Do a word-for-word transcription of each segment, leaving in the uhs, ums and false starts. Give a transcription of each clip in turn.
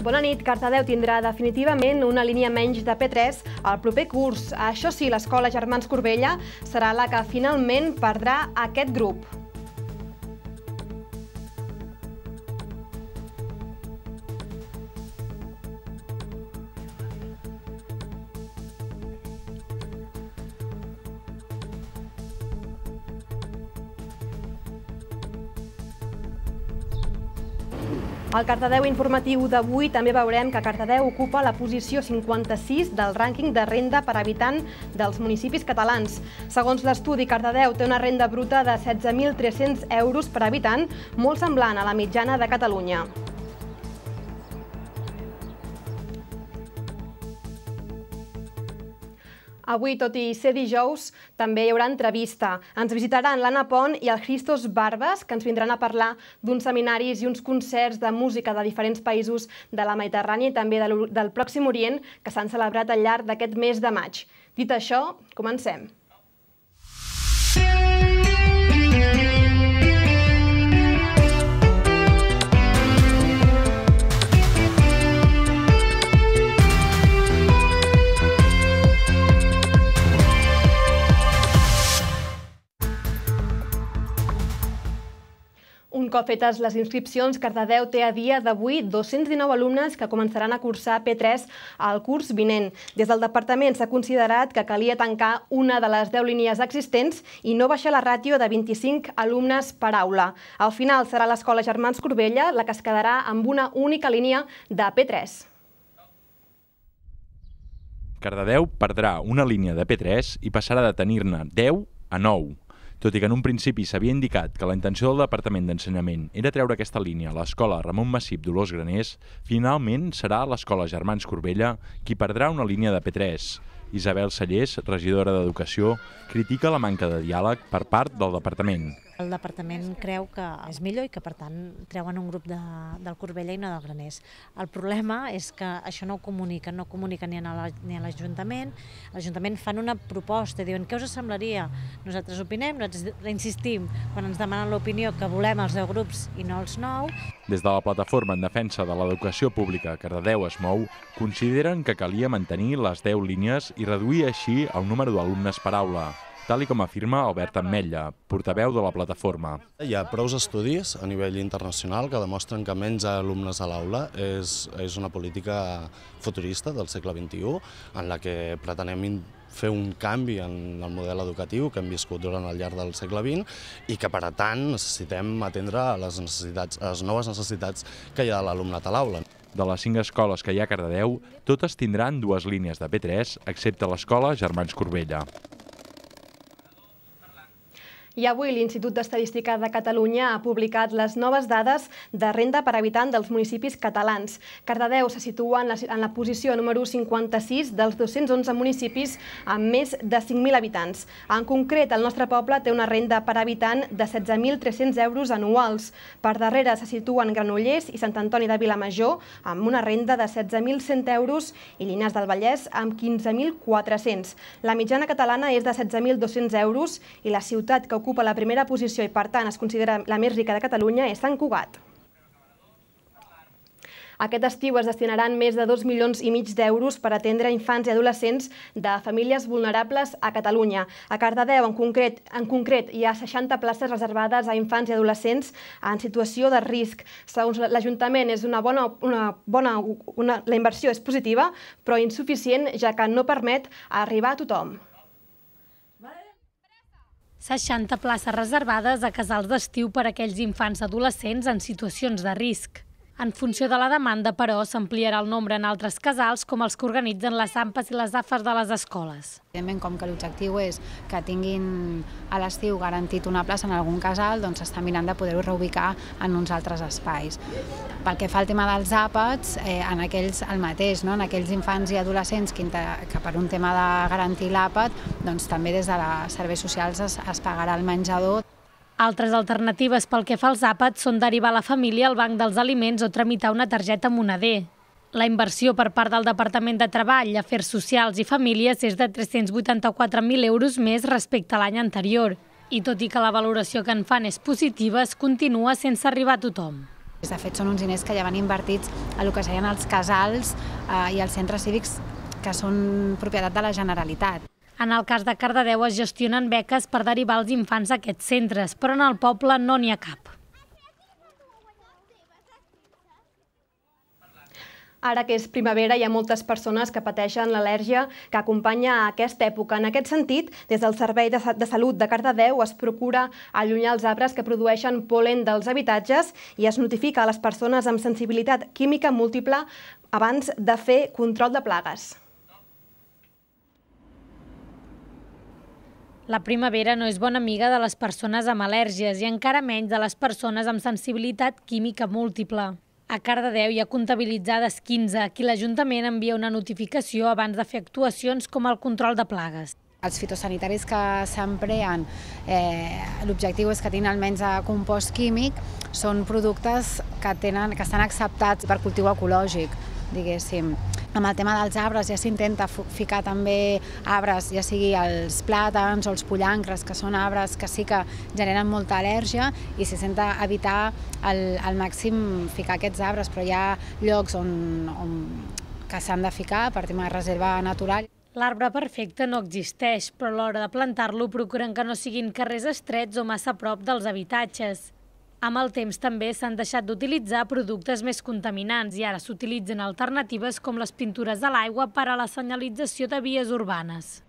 Bona nit. Cardedeu tindrà definitivament una línia menys de P tres al proper curs. Això sí, l'escola Germans Corbella serà la que finalment perdrà aquest grup. Al Cardedeu informatiu d'avui també veurem que Cardedeu ocupa la posició cinquanta-sis del rànquing de renda per habitant dels municipis catalans. Segons l'estudi, Cardedeu té una renda bruta de setze mil tres-cents euros per habitant, molt semblant a la mitjana de Catalunya. Avui, tot i ser dijous, també hi haurà entrevista. Ens visitaran l'Anna Pont i el Christos Barbas, que ens vindran a parlar d'uns seminaris i uns concerts de música de diferents països de la Mediterrània i també del Pròxim Orient que s'han celebrat al llarg d'aquest mes de maig. Dit això, comencem. Un cop fetes les inscripcions, Cardedeu té a dia d'avui dos-cents dinou alumnes que començaran a cursar P tres al curs vinent. Des del departament s'ha considerat que calia tancar una de les deu línies existents i no baixar la ràtio de vint-i-cinc alumnes per aula. Al final serà l'escola Germans Corbella la que es quedarà amb una única línia de P tres. Cardedeu perdrà una línia de P tres i passarà de tenir-ne deu a nou. Tot i que en un principi s'havia indicat que la intenció del Departament d'Ensenyament era treure aquesta línia a l'escola Ramon Massip Dolors Graners, finalment serà l'escola Germans Corbella qui perdrà una línia de P tres. Isabel Sallés, regidora d'Educació, critica la manca de diàleg per part del Departament. El Departament creu que és millor i que, per tant, treuen un grup de, del Corbella i no del Graners. El problema és que això no ho comuniquen, no ho comuniquen ni a l'Ajuntament. L'Ajuntament fan una proposta, diuen què us semblaria? Nosaltres opinem, nosaltres insistim quan ens demanen l'opinió que volem els deu grups i no els nou. Des de la plataforma en defensa de l'educació pública Cardedeu es mou, consideren que calia mantenir les deu línies i reduir així el número d'alumnes per aula, tal com afirma Albert Ametlla, portaveu de la plataforma. Hi ha prou estudis a nivell internacional que demostren que menys alumnes a l'aula és, és una política futurista del segle vint-i-u en la que pretenem fer un canvi en el model educatiu que hem viscut durant el llarg del segle vint i que, per tant, necessitem atendre les, necessitats, les noves necessitats que hi ha de l'alumnat a l'aula. De les cinc escoles que hi ha a Cardedeu, totes tindran dues línies de P tres, excepte l'escola Germans Corbella. I avui l'Institut d'Estadística de Catalunya ha publicat les noves dades de renda per habitant dels municipis catalans. Cardedeu se situa en la, en la posició número cinquanta-sis dels dos-cents onze municipis amb més de cinc mil habitants. En concret, el nostre poble té una renda per habitant de setze mil tres-cents euros anuals. Per darrere se situen Granollers i Sant Antoni de Vilamajor amb una renda de setze mil cent euros i Llinars del Vallès amb quinze mil quatre-cents. La mitjana catalana és de setze mil dos-cents euros i la ciutat que ocupa la primera posició i, per tant, es considera la més rica de Catalunya és Sant Cugat. Aquest estiu es destinaran més de dos milions i mig d'euros per atendre infants i adolescents de famílies vulnerables a Catalunya. A Cardedeu, en concret, en concret, hi ha seixanta places reservades a infants i adolescents en situació de risc. Segons l'Ajuntament, és una bona, una bona, una, la inversió és positiva, però insuficient, ja que no permet arribar a tothom. seixanta places reservades a casals d'estiu per a aquells infants adolescents en situacions de risc. En funció de la demanda, però, s'ampliarà el nombre en altres casals, com els que organitzen les AMPAs i les A F A S de les escoles. Evidentment, com que l'objectiu és que tinguin a l'estiu garantit una plaça en algun casal, doncs s'està mirant de poder-ho reubicar en uns altres espais. Pel que fa al tema dels àpats, eh, en aquells el mateix, no? En aquells infants i adolescents que, que per un tema de garantir l'àpat, doncs també des de les serveis socials es, es pagarà el menjador. Altres alternatives pel que fa als àpats són derivar la família al banc dels aliments o tramitar una targeta moneder. La inversió per part del Departament de Treball, Afers Socials i Famílies és de tres-cents vuitanta-quatre mil euros més respecte a l'any anterior. I tot i que la valoració que en fan és positiva, es continua sense arribar a tothom. De fet, són uns diners que ja van invertits a el que serien els casals i els centres cívics que són propietat de la Generalitat. En el cas de Cardedeu es gestionen beques per derivar els infants a aquests centres, però en el poble no n'hi ha cap. Ara que és primavera, hi ha moltes persones que pateixen l'al·lèrgia que acompanya a aquesta època. En aquest sentit, des del Servei de Salut de Cardedeu es procura allunyar els arbres que produeixen pol·len dels habitatges i es notifica a les persones amb sensibilitat química múltiple abans de fer control de plagues. La primavera no és bona amiga de les persones amb al·lèrgies i encara menys de les persones amb sensibilitat química múltiple. A Cardedeu hi ha comptabilitzades quinze, a qui l'Ajuntament envia una notificació abans de fer actuacions com el control de plagues. Els fitosanitaris que s'empreen, l'objectiu és que tinguin almenys compost químic, són productes que estan acceptats per cultiu ecològic, diguéssim. Amb el tema dels arbres ja s'intenta ficar també arbres, ja sigui els plàtans o els pollancres, que són arbres que sí que generen molta al·lèrgia, i s'intenta evitar al màxim ficar aquests arbres, però hi ha llocs que s'han de ficar per tema de reserva natural. L'arbre perfecte no existeix, però a l'hora de plantar-lo procuren que no siguin carrers estrets o massa a prop dels habitatges. Amb el temps també s'han deixat d'utilitzar productes més contaminants i ara s'utilitzen alternatives com les pintures a l'aigua per a la senyalització de vies urbanes.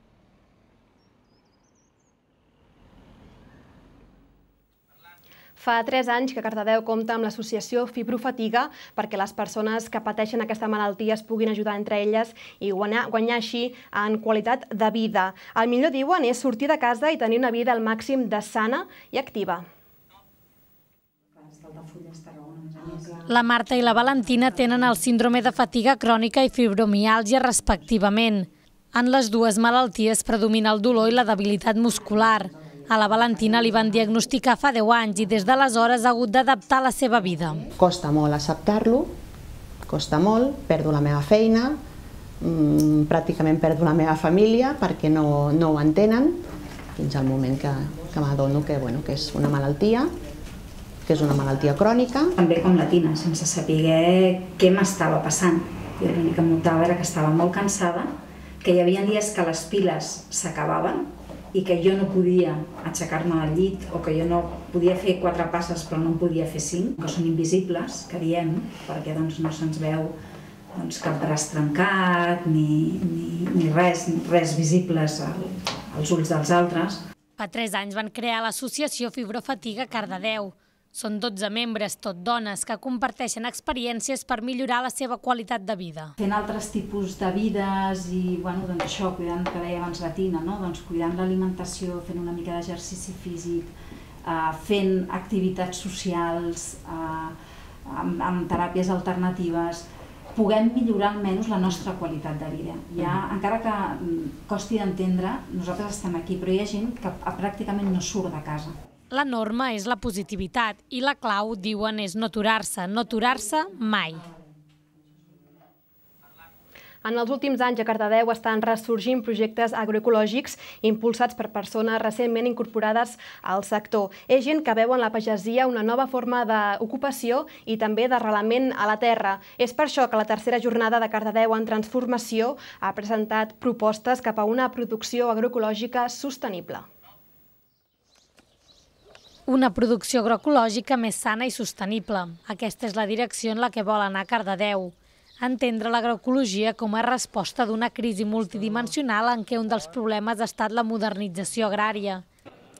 Fa tres anys que Cardedeu compta amb l'associació Fibrofatiga perquè les persones que pateixen aquesta malaltia es puguin ajudar entre elles i guanyar així en qualitat de vida. El millor, diuen, és sortir de casa i tenir una vida al màxim de sana i activa. La Marta i la Valentina tenen el síndrome de fatiga crònica i fibromiàlgia respectivament. En les dues malalties predomina el dolor i la debilitat muscular. A la Valentina li van diagnosticar fa deu anys i des d'aleshores ha hagut d'adaptar la seva vida. Costa molt acceptar-lo, costa molt, perdo la meva feina, pràcticament perdo la meva família perquè no ho entenen, fins al moment que m'adono que és una malaltia, que és una malaltia crònica. També com la Tina, sense saber què m'estava passant. Jo l'únic que notava era que estava molt cansada, que hi havia dies que les piles s'acabaven i que jo no podia aixecar-me del llit o que jo no podia fer quatre passes però no en podia fer cinc, que són invisibles, que diem, perquè no se'ns veu cap braç trencat ni res visibles als ulls dels altres. Fa tres anys van crear l'associació Fibrofatiga Cardedeu. Són dotze membres, tot dones, que comparteixen experiències per millorar la seva qualitat de vida. Fent altres tipus de vides i, bueno, doncs això, cuidant, que deia abans la Tina, no? Doncs cuidant l'alimentació, fent una mica d'exercici físic, fent activitats socials, amb teràpies alternatives, puguem millorar almenys la nostra qualitat de vida. Ja, encara que costi d'entendre, nosaltres estem aquí, però hi ha gent que pràcticament no surt de casa. La norma és la positivitat i la clau, diuen, és no aturar-se, no aturar-se mai. En els últims anys a Cardedeu estan ressorgint projectes agroecològics impulsats per persones recentment incorporades al sector. És gent que veu en la pagesia una nova forma d'ocupació i també d'arrelament a la terra. És per això que la tercera jornada de Cardedeu en Transformació ha presentat propostes cap a una producció agroecològica sostenible. Una producció agroecològica més sana i sostenible. Aquesta és la direcció en la que vol anar Cardedeu. Entendre l'agroecologia com a resposta d'una crisi multidimensional en què un dels problemes ha estat la modernització agrària.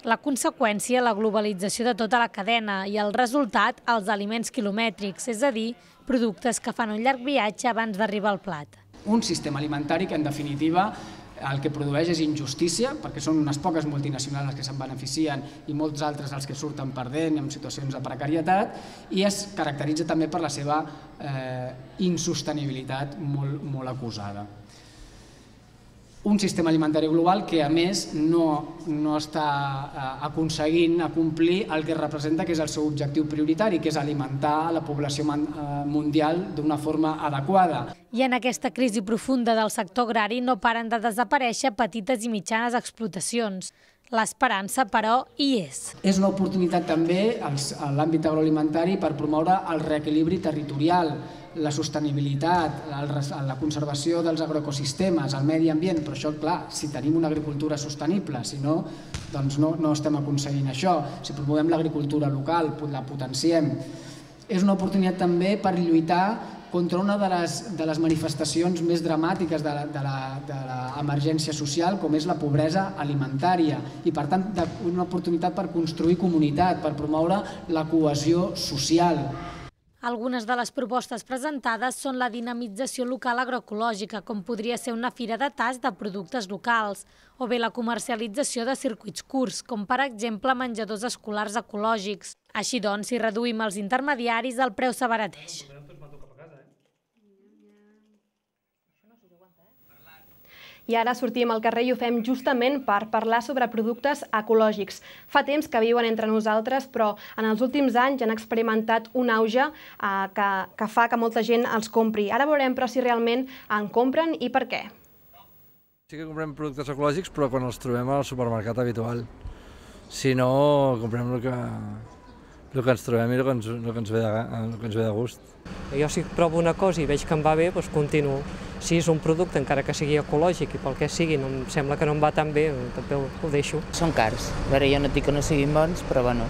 La conseqüència, la globalització de tota la cadena i el resultat, els aliments quilomètrics, és a dir, productes que fan un llarg viatge abans d'arribar al plat. Un sistema alimentari que, en definitiva, el que produeix és injustícia, perquè són unes poques multinacionals les que se'n beneficien i molts altres els que surten perdent en situacions de precarietat, i es caracteritza també per la seva insostenibilitat molt acusada. Un sistema alimentari global que, a més, no està aconseguint complir el que representa que és el seu objectiu prioritari, que és alimentar la població mundial d'una forma adequada. I en aquesta crisi profunda del sector agrari no paren de desaparèixer petites i mitjanes explotacions. L'esperança, però, hi és. És una oportunitat també a l'àmbit agroalimentari per promoure el reequilibri territorial, la sostenibilitat, la conservació dels agroecosistemes, el medi ambient, però això, clar, si tenim una agricultura sostenible, si no, doncs no, no estem aconseguint això. Si promovem l'agricultura local, la potenciem. És una oportunitat també per lluitar contra una de les, de les manifestacions més dramàtiques de l'emergència social, com és la pobresa alimentària, i per tant una oportunitat per construir comunitat, per promoure la cohesió social. Algunes de les propostes presentades són la dinamització local agroecològica, com podria ser una fira de tast de productes locals, o bé la comercialització de circuits curts, com per exemple menjadors escolars ecològics. Així doncs, si reduïm els intermediaris, el preu s'abarateix. I ara sortim al carrer i ho fem justament per parlar sobre productes ecològics. Fa temps que viuen entre nosaltres, però en els últims anys han experimentat un auge que, que fa que molta gent els compri. Ara veurem però si realment en compren i per què. Sí que comprem productes ecològics, però quan els trobem al supermercat habitual. Si no, comprem el que, el que ens trobem i el que ens, el que ens, ve, de, el que ens ve de gust. Jo si provo una cosa i veig que em va bé, doncs continuo. Si és un producte, encara que sigui ecològic i pel que sigui, no em sembla que no em va tan bé, també ho deixo. Són cars. A veure, jo no dic que no siguin bons, però bueno,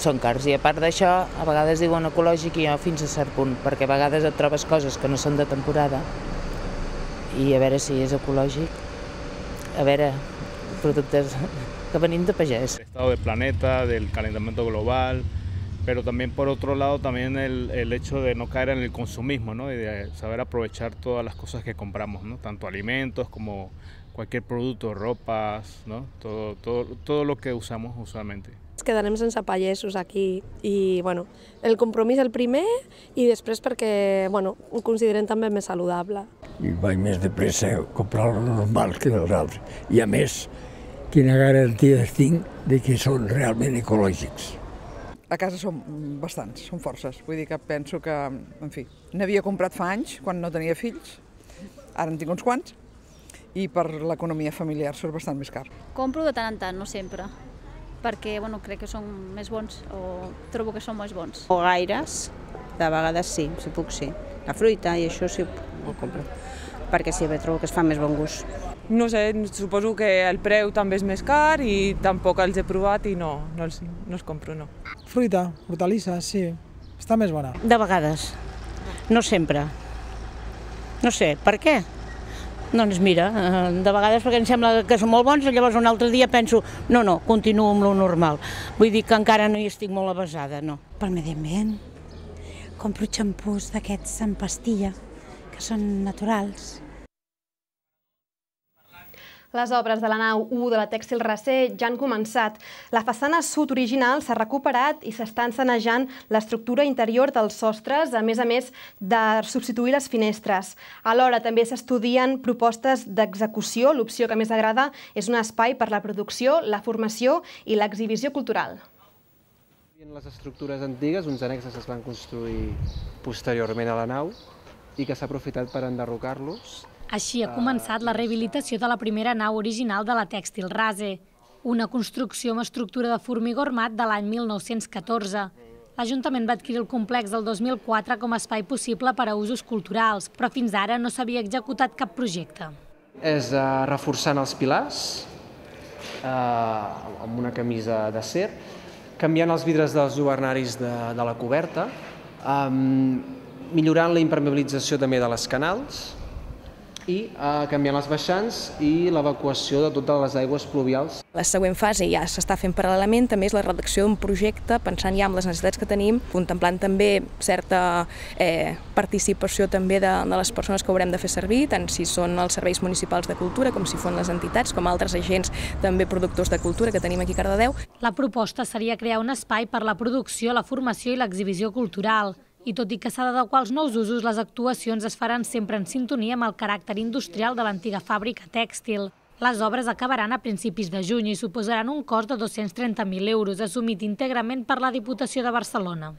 són cars. I a part d'això, a vegades diuen ecològic i jo fins a cert punt, perquè a vegades et trobes coses que no són de temporada i a veure si és ecològic, a veure, productes que venim de pagès. El estado del planeta, del calentamiento global, pero también por otro lado también el, el hecho de no caer en el consumismo, ¿no? Y de saber aprovechar todas las cosas que compramos, ¿no? Tanto alimentos como cualquier producto, ropas, ¿no? Todo, todo, todo lo que usamos usualmente. Ens quedarem sense pagesos aquí i bueno, el compromís el primer i després perquè bueno, ho considerem també més saludable. I vaig més de pressa a comprar el normal que els altres. I a més, quina garantia tinc de que són realment ecològics. A casa són bastants, són forces. Vull dir que penso que, en fi, n'havia comprat fa anys, quan no tenia fills, ara en tinc uns quants, i per l'economia familiar surt bastant més car. Compro de tant en tant, no sempre, perquè bueno, crec que són més bons, o trobo que són més bons. O gaires, de vegades sí, si puc sí. La fruita i això sí ho compro, perquè sí, trobo que es fa més bon gust. No sé, suposo que el preu també és més car i tampoc els he provat i no, no els, no els compro, no. Fruita, hortalisses, sí, està més bona. De vegades, no sempre. No sé, per què? Doncs mira, de vegades perquè em sembla que són molt bons i llavors un altre dia penso no, no, continuo amb lo normal. Vull dir que encara no hi estic molt avasada, no. Pel medi ambient, compro xampús d'aquests en pastilla, que són naturals. Les obres de la nau u de la Tèxtil Racer ja han començat. La façana sud original s'ha recuperat i s'està encenejant l'estructura interior dels sostres, a més a més de substituir les finestres. Alhora també s'estudien propostes d'execució. L'opció que més agrada és un espai per la producció, la formació i l'exhibició cultural. En les estructures antigues, uns annexes es van construir posteriorment a la nau i que s'ha aprofitat per enderrocar-los. Així ha començat la rehabilitació de la primera nau original de la Tèxtil Racer, una construcció amb estructura de formigó armat de l'any mil nou-cents catorze. L'Ajuntament va adquirir el complex el dos mil quatre com a espai possible per a usos culturals, però fins ara no s'havia executat cap projecte. És reforçant els pilars amb una camisa d'acer, canviant els vidres dels lluernaris de la coberta, millorant la impermeabilització també de les canals, i canviant els baixants i l'evacuació de totes les aigües pluvials. La següent fase ja s'està fent paral·lelament, també és la redacció d'un projecte, pensant ja en les necessitats que tenim, contemplant també certa participació també de les persones que haurem de fer servir, tant si són els serveis municipals de cultura, com si són les entitats, com altres agents també productors de cultura que tenim aquí a Cardedeu. La proposta seria crear un espai per la producció, la formació i l'exhibició cultural. I tot i que s'ha d'adequar als nous usos, les actuacions es faran sempre en sintonia amb el caràcter industrial de l'antiga fàbrica tèxtil. Les obres acabaran a principis de juny i suposaran un cost de dos-cents trenta mil euros, assumit íntegrament per la Diputació de Barcelona.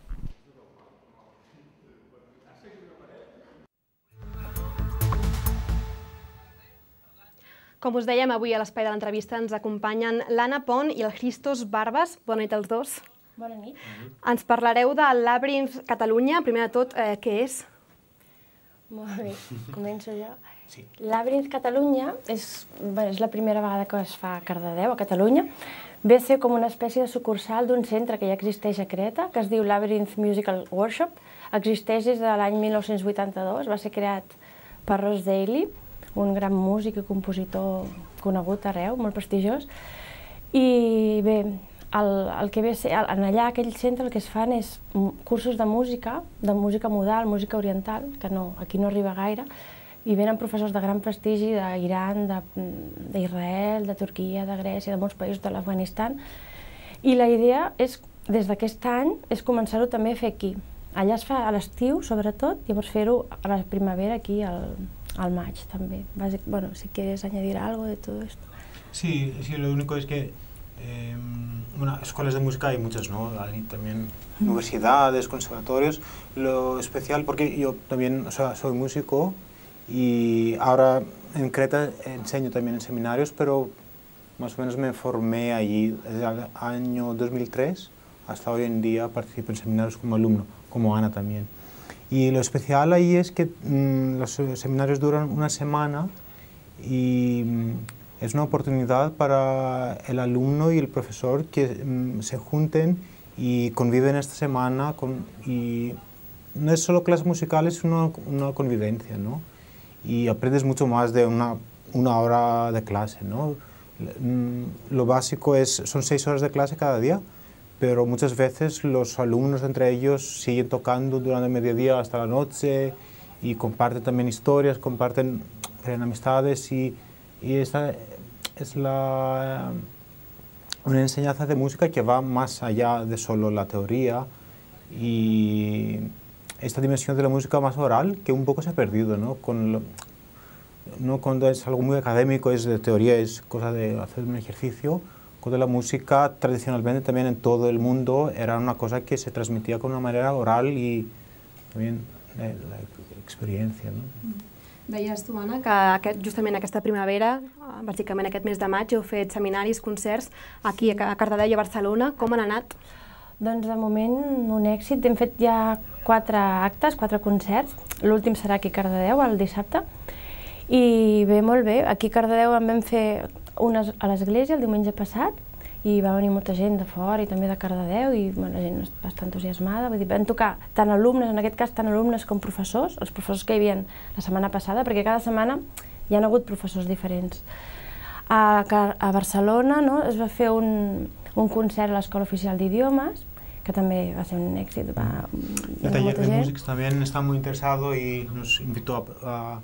Com us dèiem, avui a l'espai de l'entrevista ens acompanyen l'Anna Pont i el Christos Barbas. Bona nit als dos. Bona nit. Ens parlareu del Labyrinth Catalunya. Primer de tot, eh, què és? Molt bé, començo jo. Sí. Labyrinth Catalunya és, bé, és la primera vegada que es fa a Cardedeu, a Catalunya. Ve a ser com una espècie de sucursal d'un centre que ja existeix a Creta, que es diu Labyrinth Musical Workshop. Existeix des de l'any mil nou-cents vuitanta-dos, va ser creat per Ross Daly, un gran músic i compositor conegut arreu, molt prestigiós. I bé, el, el que ve a ser, en allà, aquell centre, el que es fan és cursos de música, de música modal, música oriental, que no, aquí no arriba gaire, i venen professors de gran prestigi d'Iran, d'Israel, de Turquia, de Grècia, de molts països de l'Afganistan. I la idea és, des d'aquest any, és començar-ho també a fer aquí. Allà es fa a l'estiu, sobretot, i llavors fer-ho a la primavera aquí, al, al maig, també. Bàsic, bueno, si quieres añadir algo de todo esto. Sí, sí, lo único es que eh, bueno, escuelas de música hay muchas, ¿no? Hay también universidades, conservatorios. Lo especial, porque yo también, o sea, soy músico, y ahora en Creta enseño también en seminarios, pero más o menos me formé allí desde el año dos mil tres hasta hoy en día. Participo en seminarios como alumno, como Ana también. Y lo especial ahí es que mmm, los seminarios duran una semana y mmm, es una oportunidad para el alumno y el profesor que mmm, se junten y conviven esta semana. Con, y no es solo clases musicales, es una, una convivencia, ¿no? Y aprendes mucho más de una, una hora de clase, ¿no? Lo básico es, son seis horas de clase cada día, pero muchas veces los alumnos entre ellos siguen tocando durante el mediodía hasta la noche y comparten también historias, comparten, crean amistades y, y esta es la, una enseñanza de música que va más allá de solo la teoría y esta dimensión de la música más oral que un poco se ha perdido, ¿no? Con lo, no cuando es algo muy académico, es de teoría, es cosa de hacer un ejercicio. Cuando la música tradicionalmente también en todo el mundo era una cosa que se transmitía con una manera oral y también eh, la experiencia, ¿no? Deies tu, Anna, que aquest, justament aquesta primavera, bàsicament aquest mes de maig, heu fet seminaris, concerts aquí a Cardedeu i a Barcelona. Com han anat? Doncs de moment un èxit. Hem fet ja quatre actes, quatre concerts. L'últim serà aquí a Cardedeu, el dissabte. I bé, molt bé. Aquí a Cardedeu en vam fer unes a l'església el diumenge passat i va venir molta gent de fora i també de Cardedeu i bueno, la gent va estar entusiasmada. Vull dir, van tocar tant alumnes, en aquest cas tant alumnes com professors, els professors que hi havia la setmana passada, perquè cada setmana hi ha hagut professors diferents. A, a Barcelona no, es va fer un, un concert a l'Escola Oficial d'Idiomes, que també va ser un èxit. Va, el taller de músics también está muy interesado y nos invitó a, a,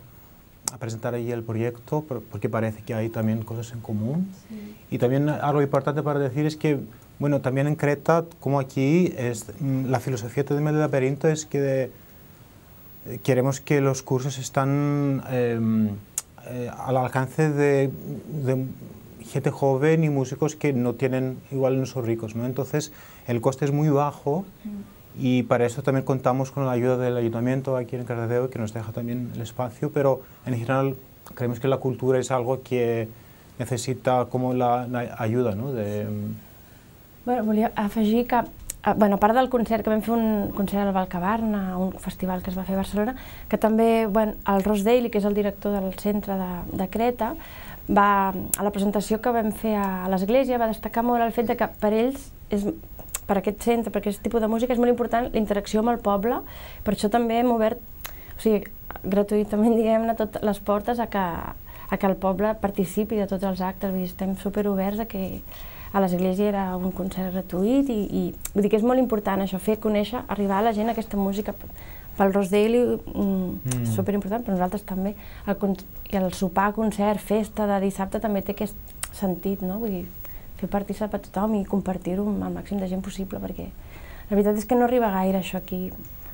a presentar ahí el proyecto porque parece que hay también cosas en común. Sí. Y también algo importante para decir es que, bueno, también en Creta, como aquí, es, la filosofía del laberinto es que de, eh, queremos que los cursos están eh, eh, al alcance de, de gente joven y músicos que no tienen, igual no son ricos, ¿no? Entonces el coste es muy bajo y para eso también contamos con la ayuda del ayuntamiento aquí en Cardedeu, que nos deja también el espacio, pero en general creemos que la cultura es algo que necessita com la, la ayuda, no? De... Bueno, volia afegir que, bueno, a part del concert, que vam fer un concert al Valcabarna, un festival que es va fer a Barcelona, que també, bueno, el Ross Daly, que és el director del centre de, de Creta, va, a la presentació que vam fer a l'església va destacar molt el fet de que per ells, és, per aquest centre, per aquest tipus de música, és molt important la interacció amb el poble, per això també hem obert, o sigui, gratuïtament, diguem-ne, totes les portes a que, a que el poble participi de tots els actes, vull dir, estem superoberts a que a l'església era un concert gratuït i, i vull dir que és molt important això, fer conèixer, arribar a la gent aquesta música. Pel Ross Daly mm, és superimportant, però nosaltres també. El, I el sopar, concert, festa de dissabte també té aquest sentit, no? Vull dir, fer partícip a tothom i compartir-ho amb el màxim de gent possible, perquè la veritat és que no arriba gaire això aquí.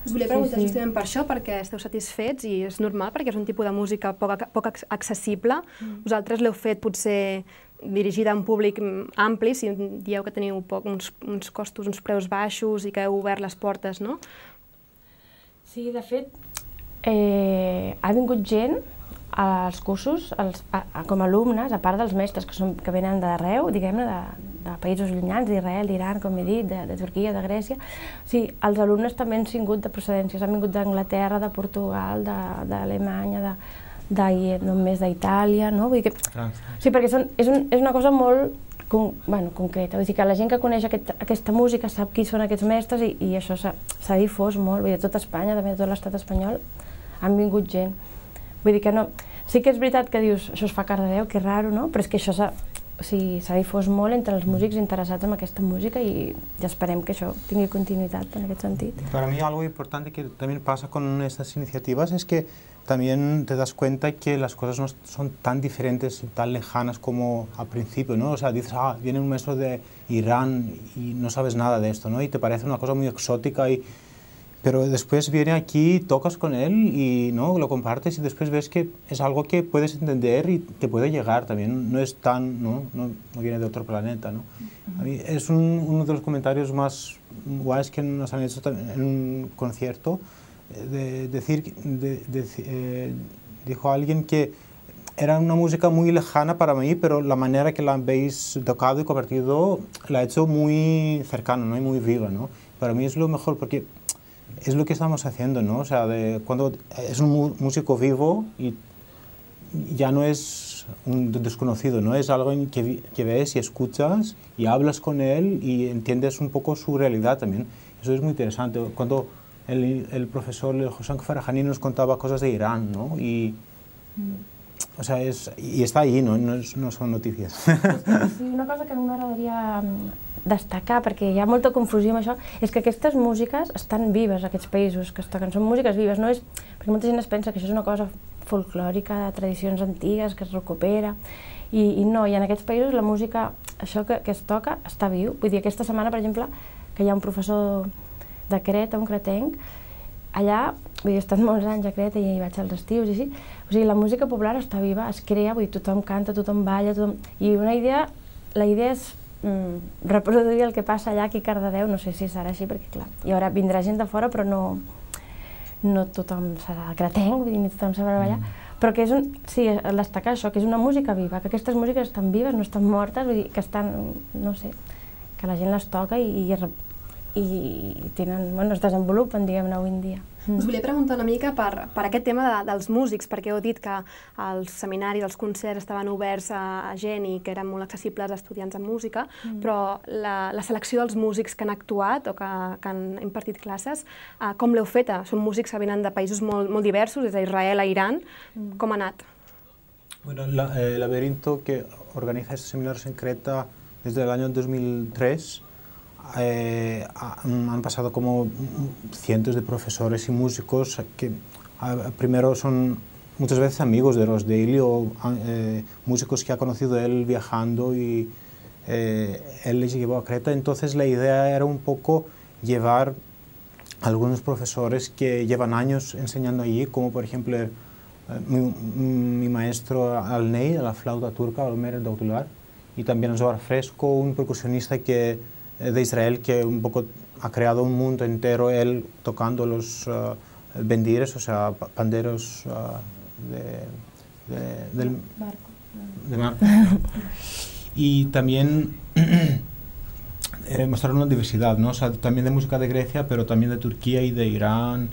Us volia preguntar sí, sí. justament per això, perquè esteu satisfets i és normal, perquè és un tipus de música poc, poc accessible. Mm. Vosaltres l'heu fet potser dirigida a un públic ampli, si dieu que teniu poc, uns, uns costos, uns preus baixos i que heu obert les portes, no? Sí, de fet, eh, ha vingut gent als cursos, com a alumnes, a part dels mestres que venen d'arreu, diguem-ne, de països llunyans, d'Israel, d'Iran, com he dit, de Turquia, de Grècia, els alumnes també han vingut de procedències, han vingut d'Anglaterra, de Portugal, d'Alemanya, només d'Itàlia, no? Sí, perquè és una cosa molt concreta, vull dir que la gent que coneix aquesta música sap qui són aquests mestres i això s'ha difós molt, vull dir, de tot Espanya, també de tot l'estat espanyol, han vingut gent. Vull dir que no... Sí que és veritat que dius, això es fa a Cardedeu, que raro, no? Però és que això s'ha difós molt entre els músics interessats en aquesta música i esperem que això tingui continuïtat en aquest sentit. Para mí algo importante que también pasa con estas iniciativas es que también te das cuenta que las cosas no son tan diferentes y tan lejanas como al principio, ¿no? O sea, dices, ah, viene un maestro de Irán y no sabes nada de esto, ¿no? Y te parece una cosa muy exótica y... Pero después viene aquí, tocas con él y ¿no? lo compartes y después ves que es algo que puedes entender y te puede llegar también. No es tan, no, no, no viene de otro planeta, ¿no? A mí es un, uno de los comentarios más guays que nos han hecho en un concierto. De decir, de, de, eh, dijo alguien que era una música muy lejana para mí, pero la manera que la habéis tocado y compartido la ha hecho muy cercana, ¿no? Y muy viva, ¿no? Para mí es lo mejor porque es lo que estamos haciendo, ¿no? O sea, de, cuando es un músico vivo y ya no es un desconocido, ¿no? Es algo que, que ves y escuchas y hablas con él y entiendes un poco su realidad también. Eso es muy interesante. Cuando el, el profesor Hosam Farahani nos contaba cosas de Irán, ¿no? Y, o sea, es, y está ahí, ¿no? No, es, no son noticias. Sí, una cosa que a mi m'agradaria destacar, perquè hi ha molta confusió amb això, és que aquestes músiques estan vives, aquests països que es toquen, són músiques vives, no és... Perquè molta gent es pensa que això és una cosa folclòrica, de tradicions antigues, que es recupera, i, i no, i en aquests països la música, això que, que es toca, està viu. Vull dir, aquesta setmana, per exemple, que hi ha un professor de Creta, un cretenc, allà, vull dir, he estat molts anys a Creta i hi vaig als estius i així, o sigui, la música popular està viva, es crea, vull dir, tothom canta, tothom balla, tothom... I una idea, la idea és mm, reproduir el que passa allà aquí a Cardedeu, no sé si serà així, perquè clar, hi haurà, vindrà gent de fora, però no, no tothom serà cretenc, vull dir, ni tothom sabrà ballar, però que és un, sí, destacar això, que és una música viva, que aquestes músiques estan vives, no estan mortes, vull dir, que estan, no sé, que la gent les toca i, i i tenen, bueno, es desenvolupen, diguem-ne, avui en dia. Us volia preguntar una mica per, per aquest tema de, dels músics, perquè heu dit que els seminaris, els concerts estaven oberts a, a gent i que eren molt accessibles a estudiants en música, mm. però la, la selecció dels músics que han actuat o que, que han impartit classes, eh, com l'heu feta? Són músics que venen de països molt, molt diversos, des d'Israel a Iran. Mm. Com ha anat? Bueno, la, eh, el Laberinto, que organiza estos seminarios en Creta desde el año dos mil tres, Eh, han pasado como cientos de profesores y músicos que a, primero son muchas veces amigos de los de Ili o eh, músicos que ha conocido él viajando y eh, él les llevó a Creta. Entonces la idea era un poco llevar a algunos profesores que llevan años enseñando allí, como por ejemplo eh, mi, mi maestro Al-Ney, a la flauta turca, Almer Dautular, y también Zohar Fresco, un percusionista que de Israel que un poco ha creado un mundo entero él tocando los uh, bendires, o sea, panderos uh, de, de, del Marco. De Marco. Y también eh, mostrar una diversidad, ¿no? O sea, también de música de Grecia, pero también de Turquía y de Irán.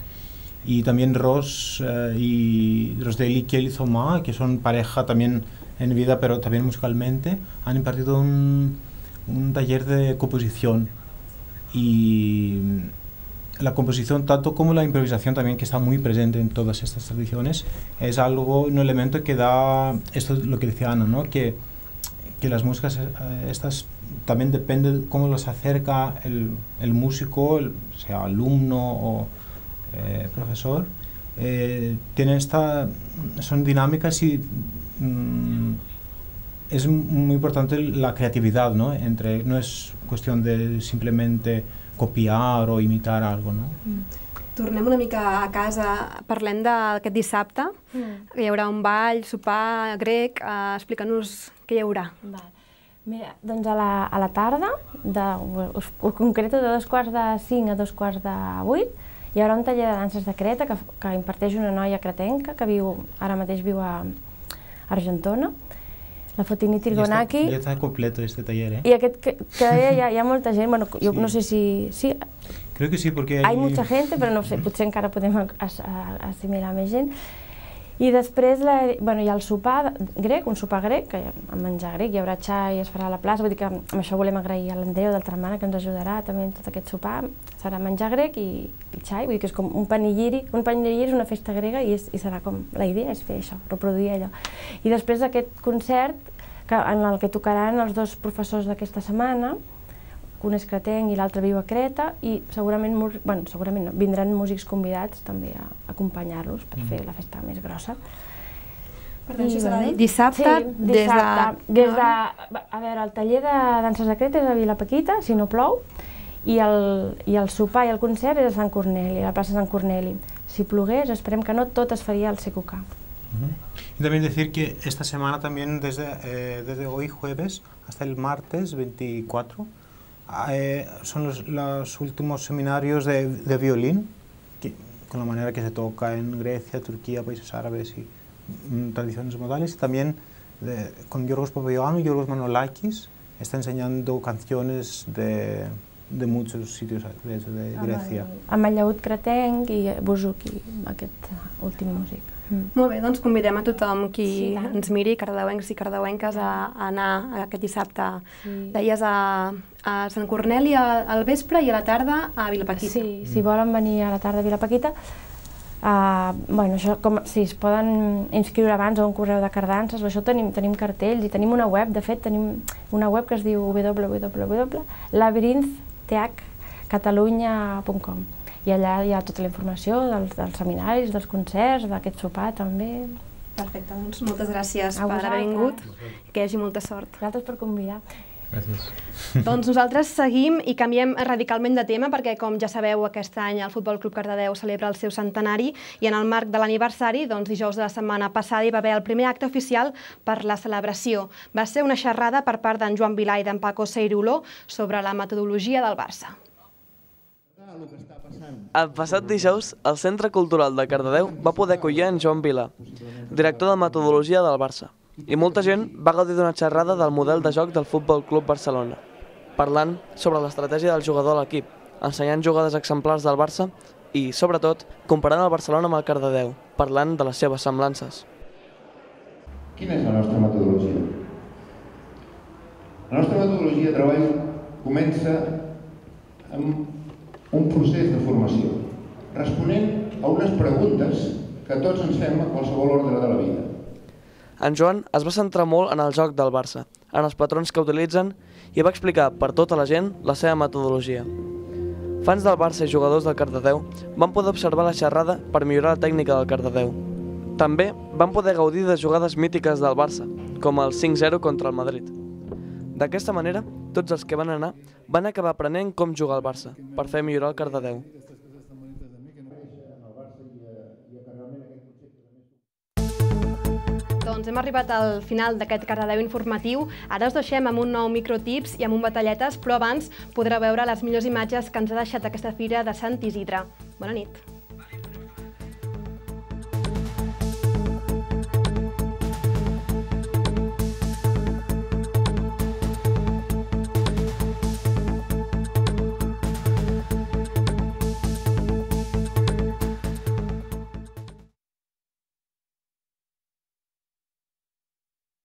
Y también Ros uh, y los de Likiel y Zoma, que son pareja también en vida, pero también musicalmente, han impartido un un taller de composición y la composición tanto como la improvisación también, que está muy presente en todas estas tradiciones, es algo, un elemento que da, esto es lo que decía Ana, ¿no? que, que las músicas estas también depende de cómo las acerca el, el músico, el, sea alumno o eh, profesor, eh, tienen esta, son dinámicas y mmm, es muy importante la creatividad, ¿no? Entre, no es cuestión de simplemente copiar o imitar algo, ¿no? Mm. Tornem una mica a casa, parlem d'aquest dissabte, mm. hi haurà un ball, sopar grec, uh, explica-nos què hi haurà. Val. Mira, doncs a la, a la tarda, de, us, us concreto de dos quarts de cinc a dos quarts de vuit, Hi haurà un taller de danses de Creta que, que imparteix una noia cretenca que viu, ara mateix viu a Argentona, la Fotini Tirgonaki. Ja està completo este taller, eh? I aquest que, que hi, ha, hi ha molta gent, bueno, jo sí. no sé si... Sí, creo que sí, porque hay... Hay mucha gente, però no sé, potser encara podem assimilar més gent. I després la, bueno, hi ha el sopar grec, un sopar grec, que amb menjar grec, hi haurà xai, es farà a la plaça, vull dir que amb això volem agrair a l'Andreu d'Altramana que ens ajudarà també en tot aquest sopar. Serà menjar grec i, i xai, vull dir que és com un panigiri, un panigiri és una festa grega i, és, i serà com, la idea és fer això, reproduir allò. I després d'aquest concert, que, en el que tocaran els dos professors d'aquesta setmana, un és cretenc i l'altre viu a Creta, i segurament, bueno, segurament no, vindran músics convidats també a acompanyar-los per fer la festa més grossa. Per tant, això serà dissabte, des de... A veure, el taller de danses de Creta és a Vila Paquita, si no plou, i el sopar i el concert és a Sant Corneli, a la plaça Sant Corneli. Si plogués, esperem que no, tot es faria al C Q K. Y también decir que esta semana también, desde, eh, desde hoy jueves hasta el martes veinticuatro, eh, son los, los últimos seminarios de, de violín, que, con la manera que se toca en Grecia, Turquía, países árabes y mm, tradiciones modales. Y también de, con Yorgos Papaioannou y Yorgos Manolakis, está enseñando canciones de, de muchos sitios de, de Grecia. Amb el llaüt cretenc i Bouzouki, aquest últim músic. Mm. Molt bé, doncs convidem a tothom qui sí, ens miri, cardedeuencs i cardedeuenques, a, a anar aquest dissabte. Sí. Deies a, a Sant Corneli al vespre i a la tarda a Vilapaquita. Sí, si volen venir a la tarda a Vilapaquita, uh, bueno, això, com, sí, es poden inscriure abans a un correu de cardances, això tenim, tenim cartells i tenim una web, de fet tenim una web que es diu w w w punt labyrinth th catalunya punt com. I allà hi ha tota la informació dels, dels seminaris, dels concerts, d'aquest sopar també. Perfecte, doncs moltes gràcies per haver vingut i que hi hagi molta sort. Gràcies per convidar. Gràcies. Doncs nosaltres seguim i canviem radicalment de tema perquè, com ja sabeu, aquest any el Futbol Club Cardedeu celebra el seu centenari i en el marc de l'aniversari, doncs dijous de la setmana passada hi va haver el primer acte oficial per la celebració. Va ser una xerrada per part d'en Joan Vilà i d'en Paco Ceiruló sobre la metodologia del Barça. El passat dijous, el Centre Cultural de Cardedeu va poder acollir en Joan Vilà, director de metodologia del Barça, i molta gent va gaudir d'una xerrada del model de joc del Futbol Club Barcelona, parlant sobre l'estratègia del jugador a l'equip, ensenyant jugades exemplars del Barça i, sobretot, comparant el Barcelona amb el Cardedeu, parlant de les seves semblances. Quina és la nostra metodologia? La nostra metodologia de treball comença amb un procés de formació, responent a unes preguntes que tots ens fem a qualsevol ordre de la vida. En Joan es va centrar molt en el joc del Barça, en els patrons que utilitzen i va explicar per tota la gent la seva metodologia. Fans del Barça i jugadors del Cardedeu van poder observar la xerrada per millorar la tècnica del Cardedeu. També van poder gaudir de jugades mítiques del Barça, com el cinc zero contra el Madrid. D'aquesta manera, tots els que van anar van acabar aprenent com jugar al Barça, per fer millorar el Cardedeu. Doncs hem arribat al final d'aquest Cardedeu informatiu. Ara us deixem amb un nou microtips i amb un batalletes, però abans podreu veure les millors imatges que ens ha deixat aquesta fira de Sant Isidre. Bona nit.